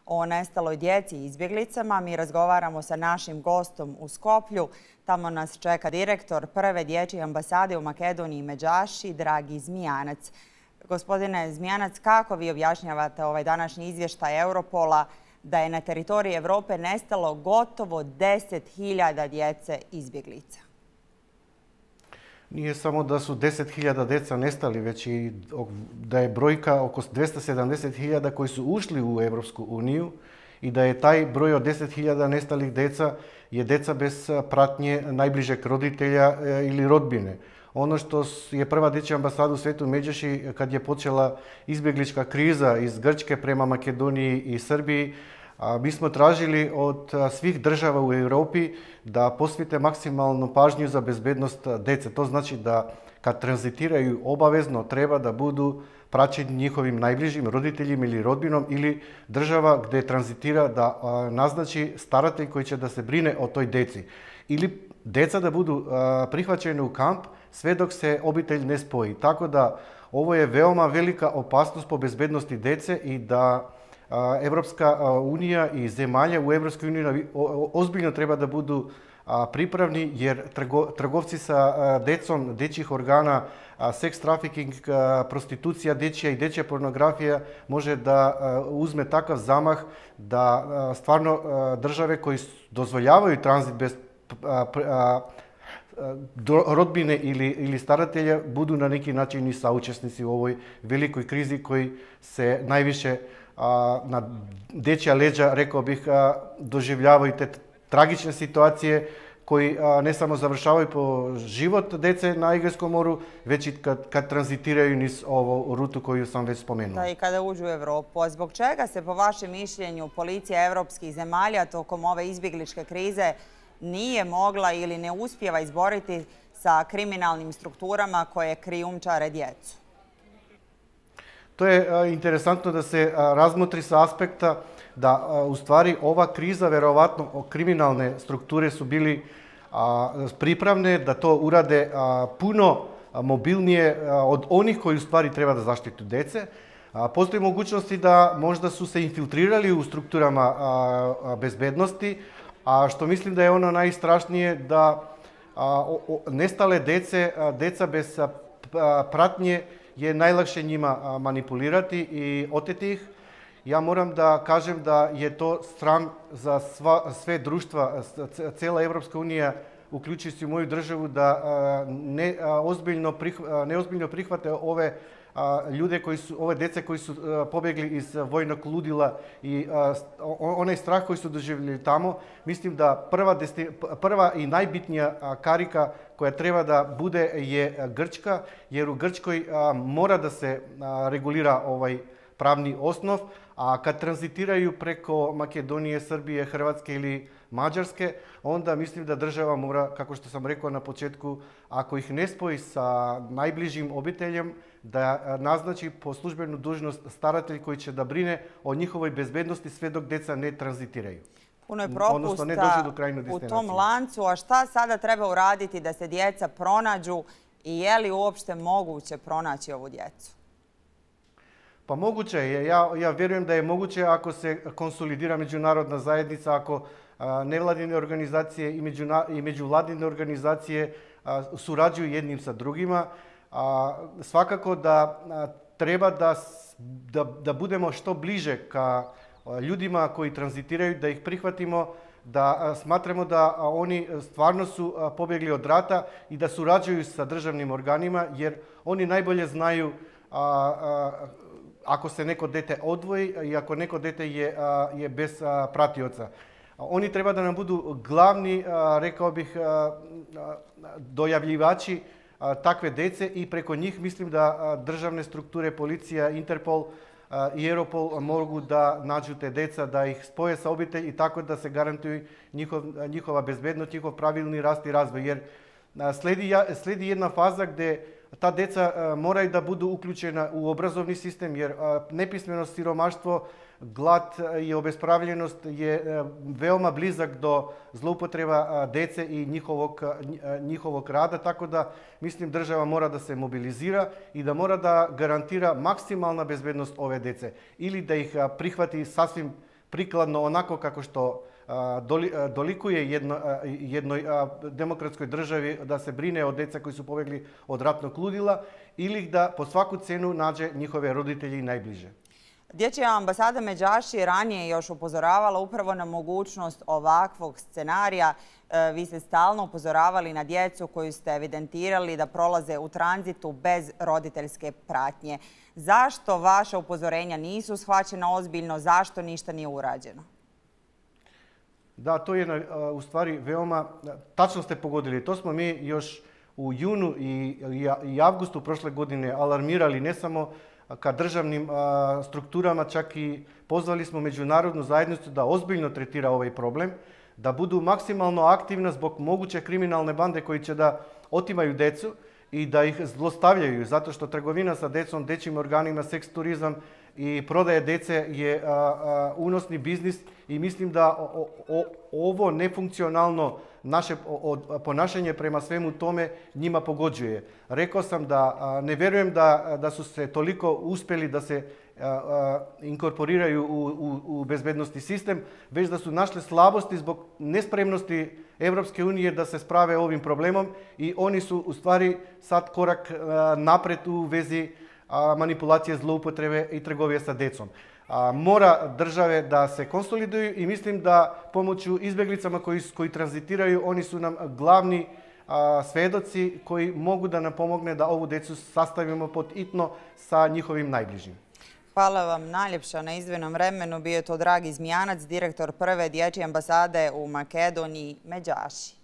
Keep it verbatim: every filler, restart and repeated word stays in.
o nestaloj djeci i izbjeglicama. Mi razgovaramo sa našim gostom u Skoplju. Tamo nas čeka direktor prve dječje ambasade u Makedoniji Međaši, Dragi Zmijanac. Gospodine Zmijanac, kako vi objašnjavate ovaj današnji izvještaj Europola da je na teritoriji Europe nestalo gotovo deset hiljada djece izbjeglica? Nije samo da su deset hiljada djeca nestali, već i da je brojka oko dvjesto sedamdeset hiljada koji su ušli u Europsku uniju i da je taj broj od deset hiljada nestalih djeca je djeca bez pratnje najbližeg roditelja ili rodbine. Ono što je prva dječja ambasada u Svetu Međaši, kad je počela izbjeglička kriza iz Grčke prema Makedoniji i Srbiji, mi smo tražili od svih država u Europi da posvete maksimalnu pažnju za bezbednost djece. To znači da kad tranzitiraju obavezno treba da budu praćeni njihovim najbližim roditeljima ili rodbinom ili država gdje tranzitira da naznači staratelj koji će da se brine o toj djeci. Ili djeca da budu prihvaćene u kamp sve dok se obitelj ne spoji. Tako da ovo je veoma velika opasnost po bezbednosti djece i da Evropska unija i zemalja u Evropskoj uniji ozbiljno treba da budu pripravni jer trgovci sa djecom, dječjih organa, seks trafficking, prostitucija dječja i dječja pornografija može da uzme takav zamah da stvarno države koji dozvoljavaju tranzit bez rodbine ili, ili staratelja budu na neki način i saučesnici u ovoj velikoj krizi koji se najviše na dječja leđa, rekao bih, doživljavaju te tragične situacije koji ne samo završavaju po život djece na Egejskom moru, već i kad, kad tranzitiraju niz ovu rutu koju sam već spomenuo. Da, i kada uđu u Europu. A zbog čega se, po vašem mišljenju, policija evropskih zemalja tokom ove izbjegličke krize nije mogla ili ne uspijeva izboriti sa kriminalnim strukturama koje krijumčare djecu? To je interesantno da se razmotri sa aspekta da u stvari ova kriza, verovatno kriminalne strukture su bili pripravne da to urade puno mobilnije od onih koji u stvari treba da zaštitu djece. Postoji mogućnosti da možda su se infiltrirali u strukturama bezbednosti, a što mislim da je ono najstrašnije da nestale djece, djeca bez pratnje je najlakše njima manipulirati i oteti ih. Ja moram da kažem da je to sram za sva, sve društva, cijela Evropska unija, uključujući moju državu, da ne ozbiljno, ne ozbiljno prihvate ove ljude koji su, ove djece koji su pobjegli iz vojnog ludila i onaj strah koji su doživjeli tamo. Mislim da prva, prva i najbitnija karika koja treba da bude je Grčka, jer u Grčkoj mora da se regulira ovaj pravni osnov, a kad tranzitiraju preko Makedonije, Srbije, Hrvatske ili Mađarske, onda mislim da država mora, kako što sam rekao na početku, ako ih ne spoji sa najbližim obiteljem, da naznači po službenu dužnost staratelj koji će da brine o njihovoj bezbednosti sve dok djeca ne tranzitiraju. Puno je propusta u tom lancu, a šta sada treba uraditi da se djeca pronađu i je li uopšte moguće pronaći ovu djecu? Pa moguće je. Ja, ja vjerujem da je moguće ako se konsolidira međunarodna zajednica, ako a, nevladine organizacije i, međuna, i međuvladine organizacije a, surađuju jednim sa drugima. A, svakako da a, treba da, da, da budemo što bliže ka a, ljudima koji tranzitiraju, da ih prihvatimo, da a, smatramo da a, oni stvarno su a, pobjegli od rata i da surađuju sa državnim organima, jer oni najbolje znaju a, a, ako se neko dete odvoji i ako neko dete je, je bez pratioca. Oni treba da nam budu glavni, rekao bih, dojavljivači takve dece i preko njih mislim da državne strukture, policija, Interpol i Europol mogu da nađu te deca, da ih spoje sa obitelj i tako da se garantuje njihov, njihova bezbednost, njihov pravilni rast i razvoj. Jer sledi, sledi jedna faza gdje ta deca moraju da budu uključena u obrazovni sistem, jer nepismenost, siromaštvo, glad i obespravljenost je veoma blizak do zloupotreba dece i njihovog, njihovog rada, tako da mislim država mora da se mobilizira i da mora da garantira maksimalna bezbednost ove dece ili da ih prihvati sasvim prikladno onako kako što dolikuje jednoj demokratskoj državi da se brine o djeca koji su pobjegli od ratnog ludila ili da po svaku cenu nađe njihove roditelji i najbliže. Dječja ambasada Međaši je ranije još upozoravala upravo na mogućnost ovakvog scenarija. Vi ste stalno upozoravali na djecu koju ste evidentirali da prolaze u tranzitu bez roditeljske pratnje. Zašto vaša upozorenja nisu shvaćena ozbiljno? Zašto ništa nije urađeno? Da, to je u stvari veoma, tačno ste pogodili. To smo mi još u junu i avgustu prošle godine alarmirali ne samo ka državnim strukturama, čak i pozvali smo međunarodnu zajednicu da ozbiljno tretira ovaj problem, da budu maksimalno aktivna zbog moguće kriminalne bande koji će da otimaju decu i da ih zlostavljaju, zato što trgovina sa decom, dečjim organima, seks turizam i prodaje dece je unosni biznis i mislim da ovo nefunkcionalno naše ponašanje prema svemu tome njima pogođuje. Rekao sam da ne vjerujem da su se toliko uspjeli da se inkorporiraju u bezbednostni sistem, već da su našli slabosti zbog nespremnosti Evropske unije da se sprave ovim problemom i oni su u stvari sad korak napred u vezi manipulacije, zloupotrebe i trgovije sa decom. Mora države da se konsoliduju i mislim da pomoću izbjeglicama koji tranzitiraju, oni su nam glavni svedoci koji mogu da nam pomogne da ovu decu sastavimo pod hitno sa njihovim najbližim. Hvala vam najljepša na izdvojenom vremenu. Bio je to Dragi Zmijanac, direktor prve dječje ambasade u Makedoniji, Međaši.